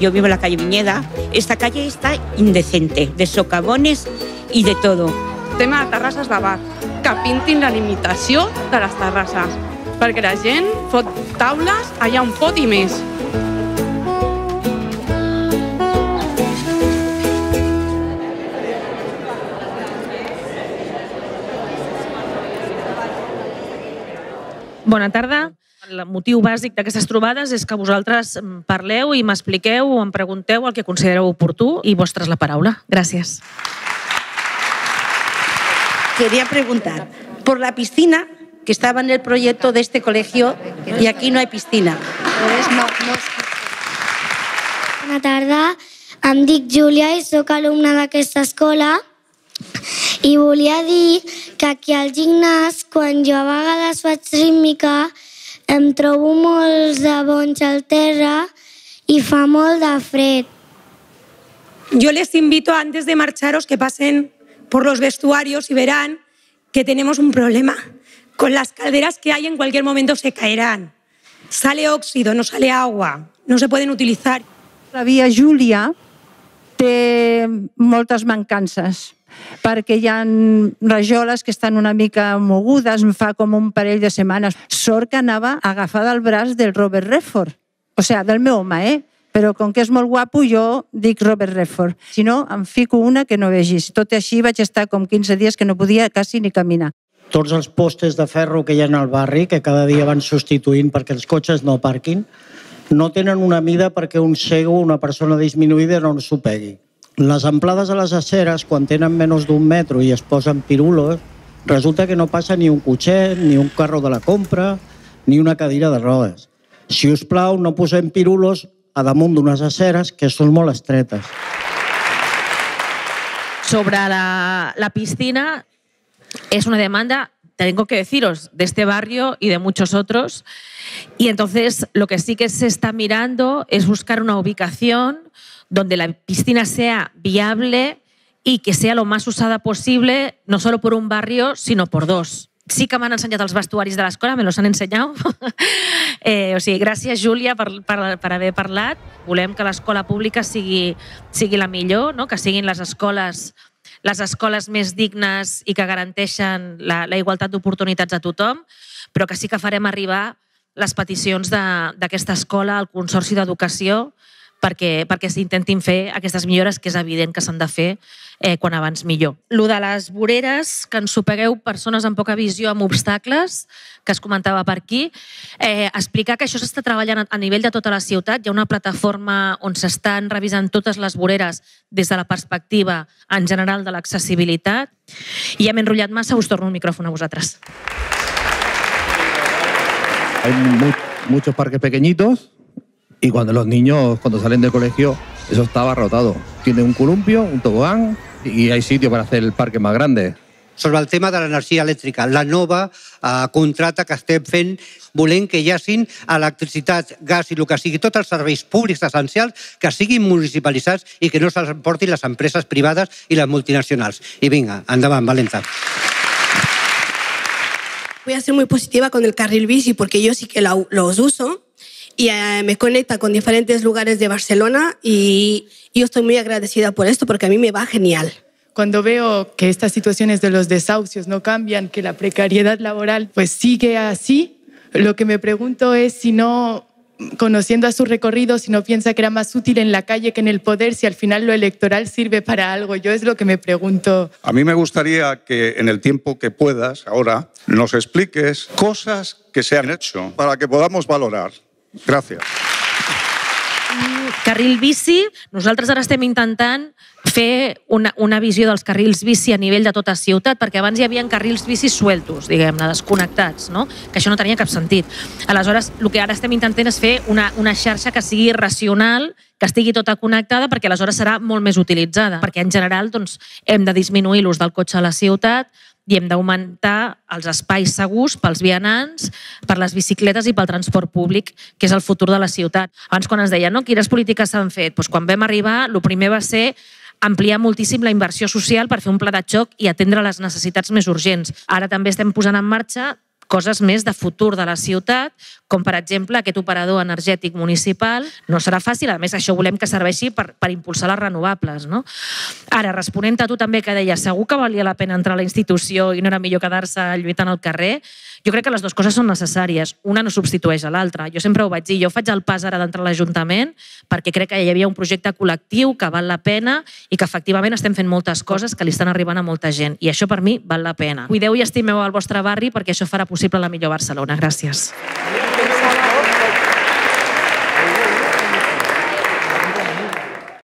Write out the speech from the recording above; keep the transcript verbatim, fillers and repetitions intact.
yo vivo en la calle Viñeda, esta calle está indecente, de socavones y de todo. Tema de terrasses de bar, que pintin la limitació de les terrasses, perquè la gent fot taules allà on pot i més. Bona tarda. El motiu bàsic d'aquestes trobades és que vosaltres parleu i m'expliqueu o em pregunteu el que considereu oportú i vostres la paraula. Gràcies. Quería preguntar por la piscina que estaba en el proyecto de este colegio y aquí no hay piscina. Bona tarda, em dic Júlia i sóc alumna d'aquesta escola i volia dir que aquí al gimnàs, quan jo a vegades faig rítmica, em trobo molts de bonys al terra y fa molt de fred. Yo les invito antes de marcharos que pasen por los vestuarios y verán que tenemos un problema. Con las calderas que hay en cualquier momento se caerán. Sale óxido, no sale agua, no se pueden utilizar. La via Júlia té moltes mancances, perquè hi ha rajoles que estan una mica mogudes, fa com un parell de setmanes. Sort que anava agafada al braç del Robert Redford, o sigui, del meu home, eh? Però com que és molt guapo, jo dic Robert Redford. Si no, em fico una que no vegis. Tot i així vaig estar com quinze dies que no podia quasi ni caminar. Tots els postes de ferro que hi ha al barri, que cada dia van substituint perquè els cotxes no parquin, no tenen una mida perquè un cego, una persona disminuïda, no s'ho pegui. Les amplades a les aceres, quan tenen menys d'un metro i es posen pirulos, resulta que no passa ni un cotxet, ni un carro de la compra, ni una cadira de rodes. Si us plau, no posem pirulos a damunt d'unes aceres que són molt estretes. Sobre la, la piscina, es una demanda, tengo que deciros, de este barrio y de muchos otros. Y entonces lo que sí que se está mirando es buscar una ubicación donde la piscina sea viable y que sea lo más usada posible, no solo por un barrio, sino por dos. Sí que m'han ensenyat els vestuaris de l'escola, me los han ensenyat. eh, o sigui, gràcies, Júlia, per, per, per haver parlat. Volem que l'escola pública sigui, sigui la millor, no? Que siguin les escoles, les escoles més dignes i que garanteixen la, la igualtat d'oportunitats a tothom, però que sí que farem arribar les peticions d'aquesta escola al Consorci d'Educació perquè, perquè s'intentin fer aquestes millores que és evident que s'han de fer eh, quan abans millor. Lo de les voreres, que ensopegueu persones amb poca visió amb obstacles, que es comentava per aquí, eh, explicar que això s'està treballant a nivell de tota la ciutat. Hi ha una plataforma on s'estan revisant totes les voreres des de la perspectiva en general de l'accessibilitat. I ja m'he enrotllat massa, us torno el micròfon a vosaltres. Hay muchos parques pequeñitos y cuando los niños, cuando salen del colegio, eso está abarrotado. Tiene un columpio, un tobogán y hay sitio para hacer el parque más grande. Sobre el tema de l'energia elèctrica, la nova eh, contrata que estem fent, volem que hi hagin electricitat, gas i el que sigui, tots els serveis públics essencials que siguin municipalitzats i que no se'ls emportin les empreses privades i les multinacionals. I vinga, endavant, valenta. Voy a ser muy positiva con el carril bici porque yo sí que lo, los uso y eh, me conecta con diferentes lugares de Barcelona y yo estoy muy agradecida por esto porque a mí me va genial. Cuando veo que estas situaciones de los desahucios no cambian, que la precariedad laboral pues sigue así, lo que me pregunto es si no, conociendo a su recorrido, si no piensa que era más útil en la calle que en el poder, si al final lo electoral sirve para algo. Yo es lo que me pregunto. A mí me gustaría que en el tiempo que puedas ahora nos expliques cosas que se han hecho para que podamos valorar. Gràcies. Carril bici, nosaltres ara estem intentant fer una, una visió dels carrils bici a nivell de tota ciutat, perquè abans hi havia carrils bici sueltos, diguem-ne, desconnectats, no? Que això no tenia cap sentit. Aleshores, el que ara estem intentant és fer una, una xarxa que sigui racional, que estigui tota connectada, perquè aleshores serà molt més utilitzada, perquè en general doncs, hem de disminuir l'ús del cotxe a la ciutat i hem d'augmentar els espais segurs pels vianants, per les bicicletes i pel transport públic, que és el futur de la ciutat. Abans, quan ens deien, no, quines polítiques s'han fet? Doncs quan vam arribar, el primer va ser ampliar moltíssim la inversió social per fer un pla de xoc i atendre les necessitats més urgents. Ara també estem posant en marxa coses més de futur de la ciutat, com per exemple aquest operador energètic municipal. No serà fàcil, a més això volem que serveixi per, per impulsar les renovables. No? Ara, responent a tu també que deies segur que valia la pena entrar a la institució i no era millor quedar-se lluitant al carrer, jo crec que les dues coses són necessàries. Una no substitueix a l'altra. Jo sempre ho vaig dir, jo faig el pas ara d'entrar a l'Ajuntament perquè crec que hi havia un projecte col·lectiu que val la pena i que efectivament estem fent moltes coses que li estan arribant a molta gent. I això per mi val la pena. Cuideu i estimeu el vostre barri perquè això farà possible la millor Barcelona. Gràcies.